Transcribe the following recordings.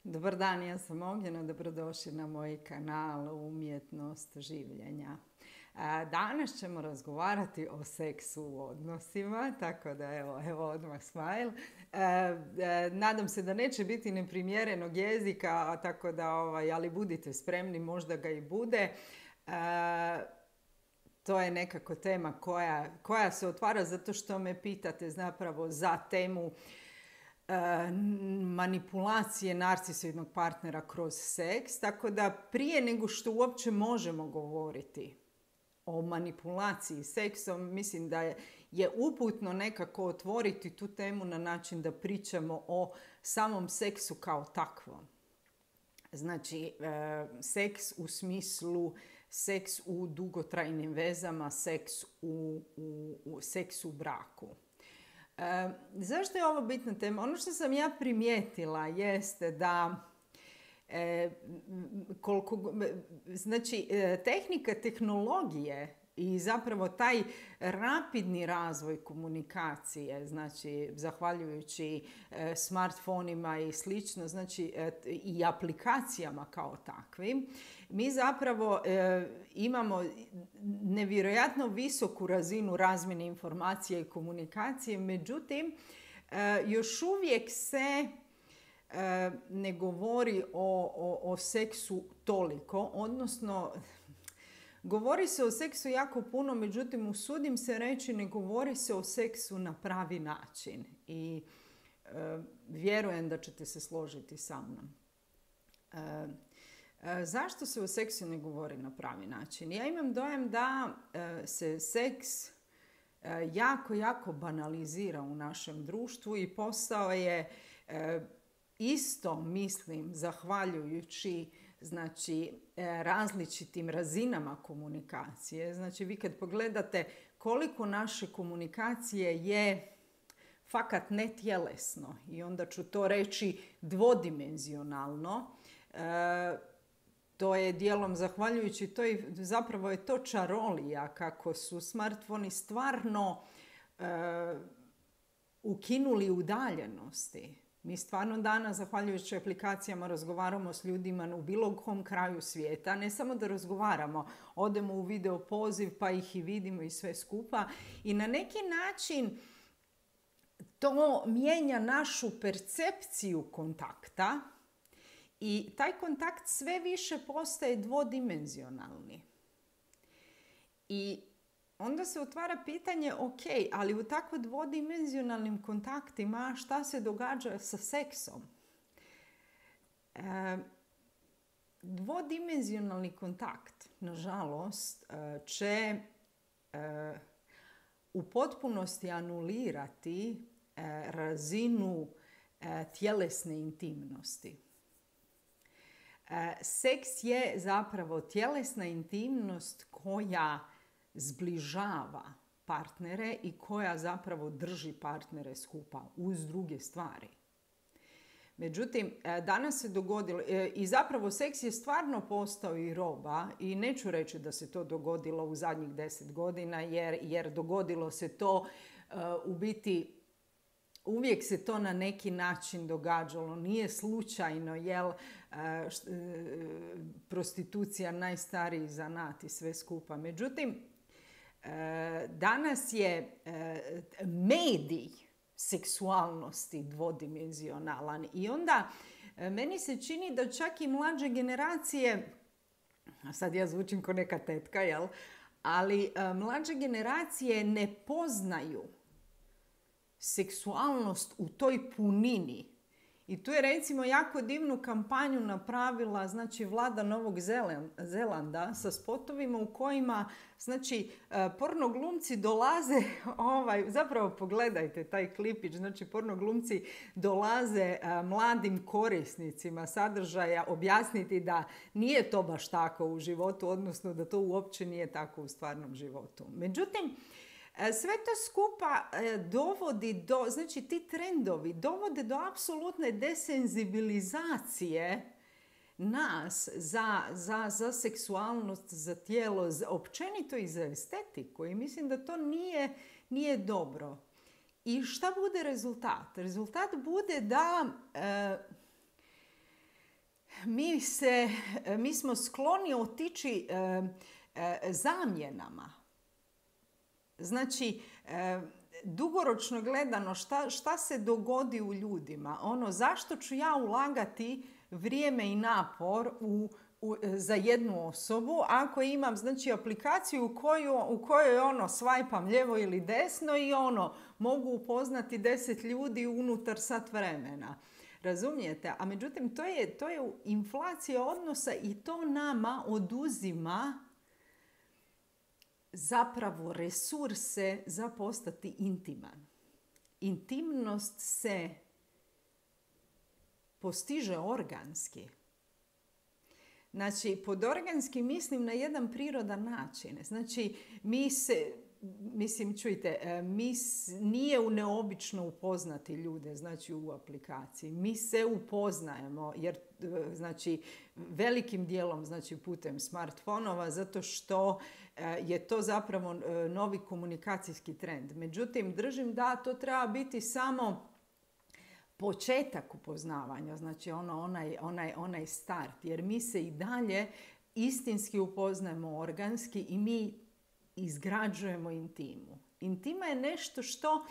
Dobar dan, ja sam Ognjena, dobrodošli na moj kanal Umjetnost življenja. Danas ćemo razgovarati o seksu u odnosima, tako da evo odmah smile. Nadam se da neće biti neprimjerenog jezika, tako da, ali budite spremni, možda ga i bude. To je nekako tema koja se otvara zato što me pitate zapravo za temu manipulacije narcisoidnog partnera kroz seks, tako da prije nego što uopće možemo govoriti o manipulaciji seksom, mislim da je uputno nekako otvoriti tu temu na način da pričamo o samom seksu kao takvom. Znači, seks u smislu seks u dugotrajnim vezama, seks u braku. Zašto je ovo bitna tema? Ono što sam ja primijetila jeste da tehnika tehnologije i zapravo taj rapidni razvoj komunikacije, znači zahvaljujući smartfonima i slično, znači i aplikacijama kao takvim, mi zapravo imamo nevjerojatno visoku razinu razmjene informacija i komunikacije, međutim još uvijek se ne govori o seksu toliko, odnosno govori se o seksu jako puno, međutim usudim se reći ne govori se o seksu na pravi način i vjerujem da ćete se složiti sa mnom. Zašto se o seksu ne govori na pravi način? Ja imam dojam da se seks jako banalizira u našem društvu i postao je isto, mislim, zahvaljujući različitim razinama komunikacije. Znači, vi kad pogledate koliko naše komunikacije je fakat netjelesno i onda ću to reći dvodimenzionalno, to je dijelom zahvaljujući to i zapravo je to čarolija kako su smartfoni stvarno ukinuli udaljenosti. Mi stvarno danas, zahvaljujući aplikacijama, razgovaramo s ljudima u bilo kom kraju svijeta. Ne samo da razgovaramo, odemo u video poziv pa ih i vidimo i sve skupa. I na neki način to mijenja našu percepciju kontakta i taj kontakt sve više postaje dvodimenzionalni. I onda se otvara pitanje, ok, ali u tako dvodimenzionalnim kontaktima šta se događa sa seksom? Dvodimenzionalni kontakt, nažalost, će u potpunosti anulirati razinu tjelesne intimnosti. Seks je zapravo tjelesna intimnost koja zbližava partnere i koja zapravo drži partnere skupa uz druge stvari. Međutim, danas se dogodilo, i zapravo seks je stvarno postao i roba i neću reći da se to dogodilo u zadnjih 10 godina jer dogodilo se to u biti uvijek se to na neki način događalo. Nije slučajno, jel prostitucija najstariji zanat i sve skupa. Međutim, danas je medij seksualnosti dvodimenzionalan i onda meni se čini da čak i mlađe generacije, a sad ja zvučim kao neka tetka, jel? Ali mlađe generacije ne poznaju seksualnost u toj punini. I tu je recimo jako divnu kampanju napravila Vlada Novog Zelanda sa spotovima u kojima pornoglumci dolaze, zapravo pogledajte taj klipić, pornoglumci dolaze mladim korisnicima sadržaja objasniti da nije to baš tako u životu, odnosno da to uopće nije tako u stvarnom životu. Međutim, sve to skupa dovodi ti trendovi dovode do apsolutne desenzibilizacije nas za seksualnost, za tijelo, općenito i za estetiku. I mislim da to nije dobro. I šta bude rezultat? Rezultat bude da mi smo skloni otići zamjenama. Znači, dugoročno gledano šta se dogodi u ljudima? Zašto ću ja ulagati vrijeme i napor za jednu osobu ako imam aplikaciju u kojoj svajpam lijevo ili desno i mogu upoznati 10 ljudi unutar sat vremena. Razumijete? A međutim, to je inflacija odnosa i to nama oduzima zapravo resurse za postati intiman. Intimnost se postiže organski. Znači, pod organski mislim na jedan prirodan način. Znači, nije neobično upoznati ljude, znači u aplikaciji. Mi se upoznajemo, jer znači velikim dijelom znači putem smartfonova, zato što je to zapravo novi komunikacijski trend. Međutim, držim da to treba biti samo početak upoznavanja, znači onaj start, jer mi se i dalje istinski upoznajemo organski i mi izgrađujemo intimu. Intima je nešto što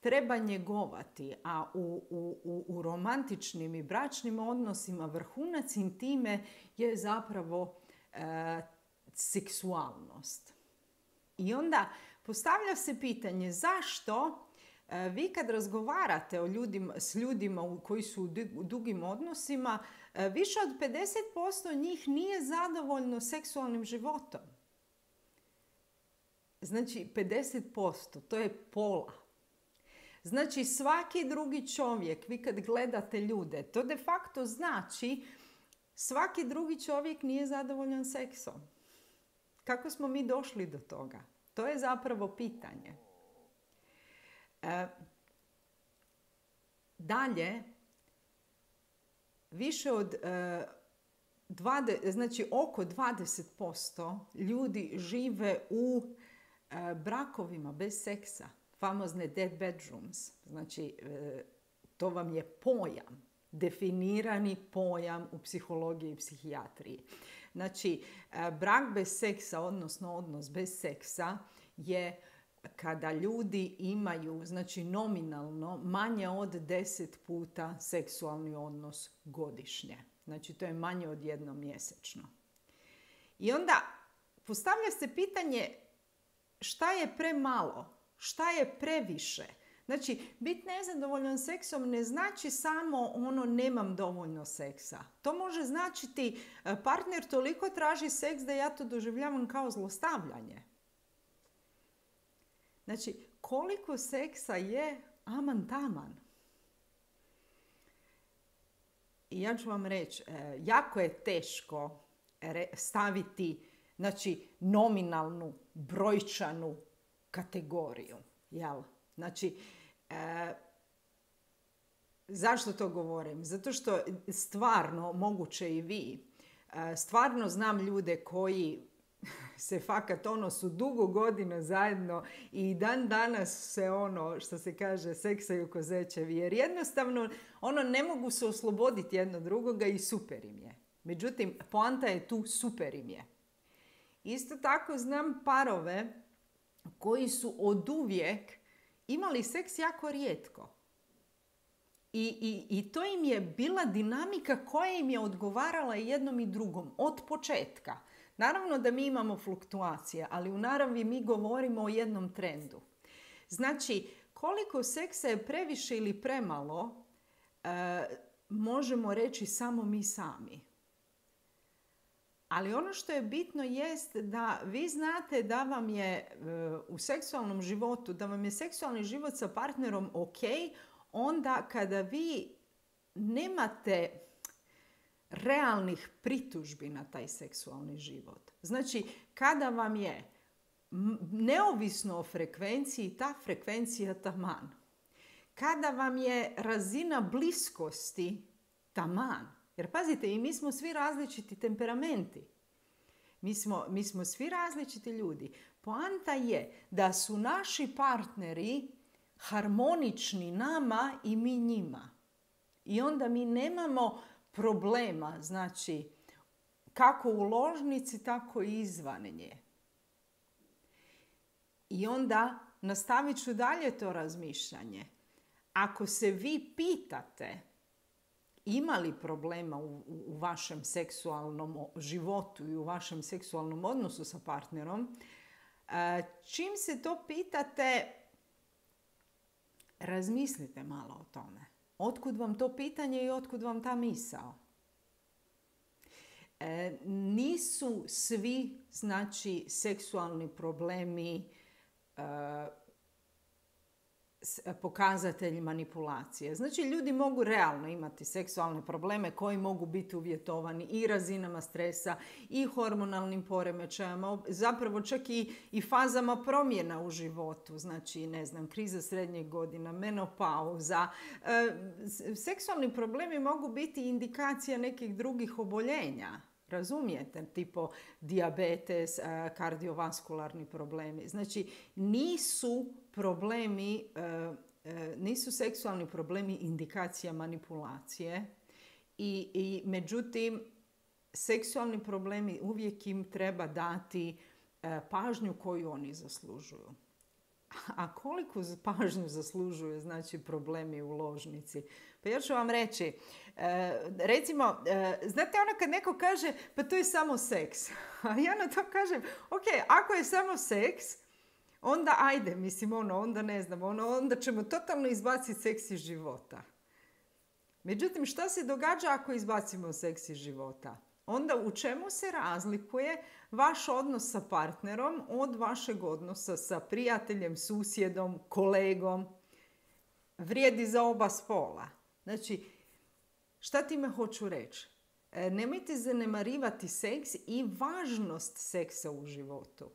treba njegovati, a u romantičnim i bračnim odnosima vrhunac intime je zapravo seksualnost. I onda postavlja se pitanje zašto vi kad razgovarate s ljudima koji su u dugim odnosima, više od 50% njih nije zadovoljno seksualnim životom. Znači 50%, to je pola. Znači svaki drugi čovjek, vi kad gledate ljude, to de facto znači svaki drugi čovjek nije zadovoljan seksom. Kako smo mi došli do toga? To je zapravo pitanje. Dalje, više od oko 20% ljudi žive u brakovima bez seksa. Famozne dead bedrooms. Znači, to vam je pojam, definirani pojam u psihologiji i psihijatriji. Znači, brak bez seksa, odnosno odnos bez seksa je kada ljudi imaju, znači nominalno, manje od 10 puta seksualni odnos godišnje. Znači, to je manje od jednom mjesečno. I onda postavlja se pitanje šta je premalo, šta je previše. Znači, biti nezadovoljan seksom ne znači samo nemam dovoljno seksa. To može značiti partner toliko traži seks da ja to doživljavam kao zlostavljanje. Znači, koliko seksa je aman taman. I ja ću vam reći, jako je teško staviti nominalnu, brojčanu kategoriju. Jel? Znači, zašto to govorim? Zato što stvarno, moguće i vi, stvarno znam ljude koji se fakat su dugo godina zajedno i dan danas se što se kaže seksaju ko zečevi, jer jednostavno ne mogu se osloboditi jedno drugoga i super im je. Međutim, poanta je tu, super im je. Isto tako znam parove koji su oduvijek imali seks jako rijetko. I to im je bila dinamika koja im je odgovarala jednom i drugom od početka. Naravno da mi imamo fluktuacije, ali u naravi mi govorimo o jednom trendu. Znači, koliko seksa je previše ili premalo, možemo reći samo mi sami. Ali ono što je bitno jest da vi znate da vam je u seksualnom životu, da vam je seksualni život sa partnerom ok, onda kada vi nemate realnih pritužbi na taj seksualni život. Znači, kada vam je neovisno o frekvenciji, ta frekvencija taman. Kada vam je razina bliskosti taman. Jer pazite, i mi smo svi različiti temperamenti. Mi smo svi različiti ljudi. Poanta je da su naši partneri harmonični nama i mi njima. I onda mi nemamo problema, znači kako u ložnici, tako i izvan nje. I onda nastavit ću dalje to razmišljanje. Ako se vi pitate ima li problema u vašem seksualnom životu i u vašem seksualnom odnosu sa partnerom, čim se to pitate, razmislite malo o tome. Otkud vam to pitanje i otkud vam ta misao? Nisu svi, znači, seksualni problemi pokazatelj manipulacije. Znači, ljudi mogu realno imati seksualne probleme koji mogu biti uvjetovani i razinama stresa i hormonalnim poremećajima, zapravo čak i fazama promjena u životu. Znači, ne znam, kriza srednjih godina, menopauza. Seksualni problemi mogu biti indikacija nekih drugih oboljenja. Razumijete? Tipo dijabetes, kardiovaskularni problemi. Znači, nisu seksualni problemi indikacija manipulacije i međutim, seksualni problemi uvijek im treba dati pažnju koju oni zaslužuju. A koliko pažnju zaslužuju, znači, problemi u ložnici? Pa ja ću vam reći, recimo, znate ono kad neko kaže, pa to je samo seks. A ja na to kažem, ok, ako je samo seks, onda ajde, mislim, onda ne znam, onda ćemo totalno izbaciti seks iz života. Međutim, šta se događa ako izbacimo seks iz života? Onda u čemu se razlikuje vaš odnos sa partnerom od vašeg odnosa sa prijateljem, susjedom, kolegom? Vrijedi za oba spola. Znači, šta time hoću reći? Nemojte zanemarivati seks i važnost seksa u životu.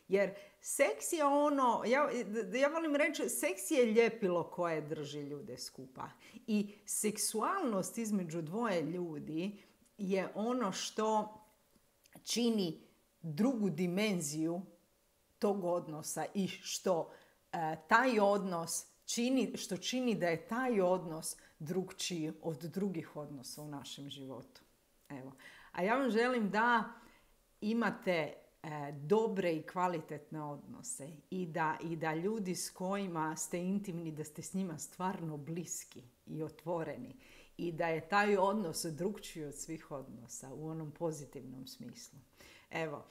Jer seks je ono, ja volim reći, seks je ljepilo koje drži ljude skupa. I seksualnost između dvoje ljudi je ono što čini drugu dimenziju tog odnosa i što taj odnos čini da je taj odnos drukčiji od drugih odnosa u našem životu. Evo. A ja vam želim da imate dobre i kvalitetne odnose i da ljudi s kojima ste intimni, da ste s njima stvarno bliski i otvoreni i da je taj odnos drukčiji od svih odnosa u onom pozitivnom smislu. Evo,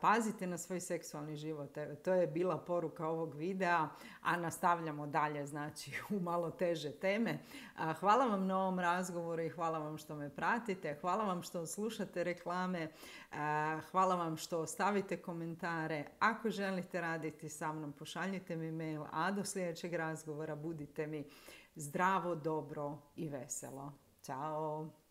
pazite na svoj seksualni život. Evo, to je bila poruka ovog videa, a nastavljamo dalje, znači, u malo teže teme. Hvala vam na ovom razgovoru i hvala vam što me pratite. Hvala vam što slušate reklame. Hvala vam što ostavite komentare. Ako želite raditi sa mnom, pošaljite mi mail, a do sljedećeg razgovora budite mi zdravo, dobro i veselo. Ćao!